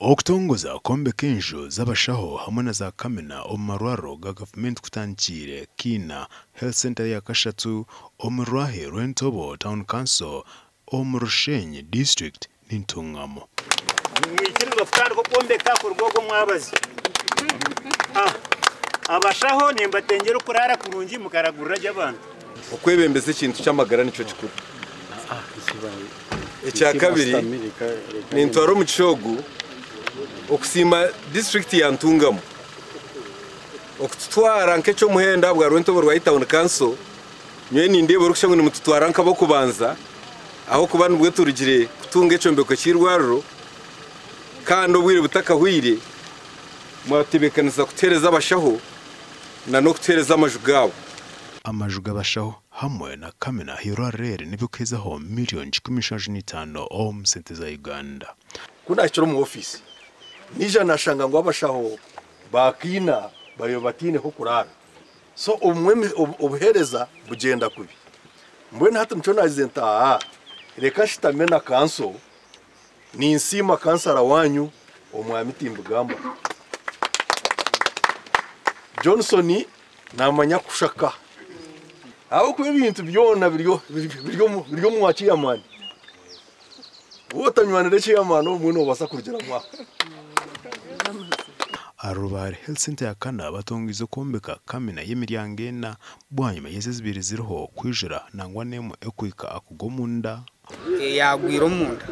Okutongoza kwombeka enju z'abashaho hamwe na za kamina omu marwariro ga gavumenti kutandikiire Kiina Health Centre ya kashatu omu rwahi rw'Entobo Town Council omu Rushenyi District n'Entungamo. Nimwikirizibwa kutandika okwombeka kuruga ogwo mwabazyo. Abashaho nimbatengyera okuraara kurungi mukaragurira gye abantu. Okwebembeza ekintu ky'amagara nikyo kikuru. Ekya kabiri, nintwara omugisha ogu okusiima disiturikiti ya Ntungamo okututwara nk'eky'omuhendo ahabwa Rwentobo rwa Town Council. Nyowe nindeeba orikushusha ngu nimututwara nk'ab'okubanza ahabw'okuba nibwo turugire kutunga ekyombeko ky'eirwariro kandi obwire butakahweire mwatebeekanisa kutuheereza abashaho n'okutuheereza amaju gaabo. Amaju g'abashaho hamwe na kamina ah'eirwariro eri nibikuhezaho miriyoni 175 omu sente za Uganda. Ku naahikire omu ofiisi, naija naashanga ngu abashaho ba Kiina bariyo bataine h'okuraara. So obumwe obuheereza bugyenda kubi. Mbwenu hati nikyo naagize nti aa reka nshutame na kanso, ninsiima kansara waanyu Omwami Timbigamba. Johnson naamanya kushaka ahabw'okuba ebintu byona biri omu wa chairman. Waaba otanywanire chairman obumwe noobaasa kurugiramu aho. Aha Rubare Health Centre ya kana batongoize okwombeka kamina y'emiryango ena bwanyima y'ezi ezibaire ziriho kwijura nangwa n'emwe ekuhika aha kugwa omunda. Eyagwire omunda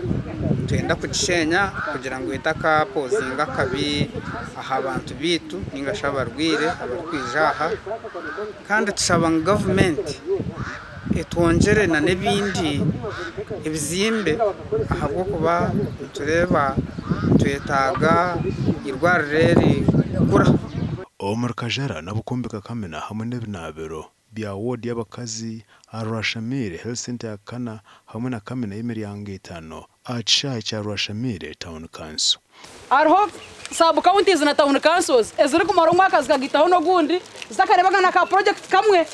nitwenda kugishenya kugira ngu etakapozinga akabi aha bantu baitu ningashi abarwaire abarikwija aha. Kandi tushaba ngu gavumenti etwongyere n'ebindi ebizimbe ahabw'okuba nitureeba nitwetaaga eirwariro eri kukura. Omuri Kajara nabo kwombeka kamina hamwe n'ebinaabiro bya woodi y'abakazi aha Rwashamire Health Centre ya kana hamwe na kamina y'emiryango 5 aha kishaayi kya Rwashamire Town Council. Hariho sub counties na town councils ezirikumara omwaka zikagaitaho n'ogundi zitakareebaga na ka project kamwe.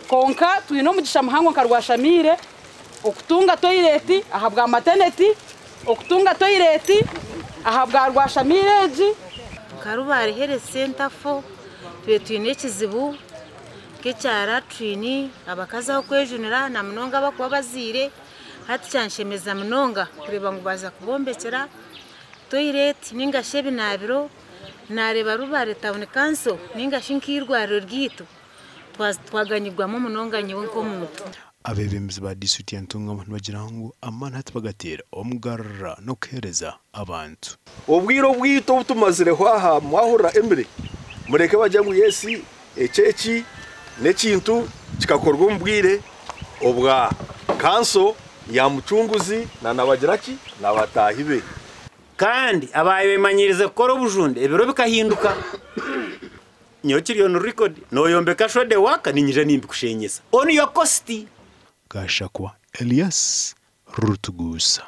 Kwonka twine omugisha muhango nka Rwashamire okutunga toilet aha bwa maternity, okutunga toilet aha bwa Rwashamire egi. Nka Rubare Health Centre 4 tube twine ekizibu nk'ekya latrine, abakazi aho kwejunira na munonga abakuba bazaire. Hati kyanshemeza munonga kureeba ngu baaza kubombekyera toilet ningashi ebinaabiro. Nareeba Rubare Town Council ningashi nk'eirwariro ryaitu twaganyirwamu munonga nyowe nk'omuntu. Abeebembezi ba disiturikiti ya Ntungamo nibagira ngu amaani hati bagateera omugarura n'okuheereza abantu. Obwire obwitu obu tumazireho aha mwahurira Emily, mureke bagire ngu yes, eki eki n'ekintu kikakorwa omu bwire obwa kanso ya Mucunguzi na nabagira ki n'abataahi be. Kandi abaayemanyirize kukora obujunde ebiro bikahinduka. Nyowe kiri on record, nooyombeka shode waka niinyija nimbikushenyesa on your cost. Gashakwa Elias Rutugusa.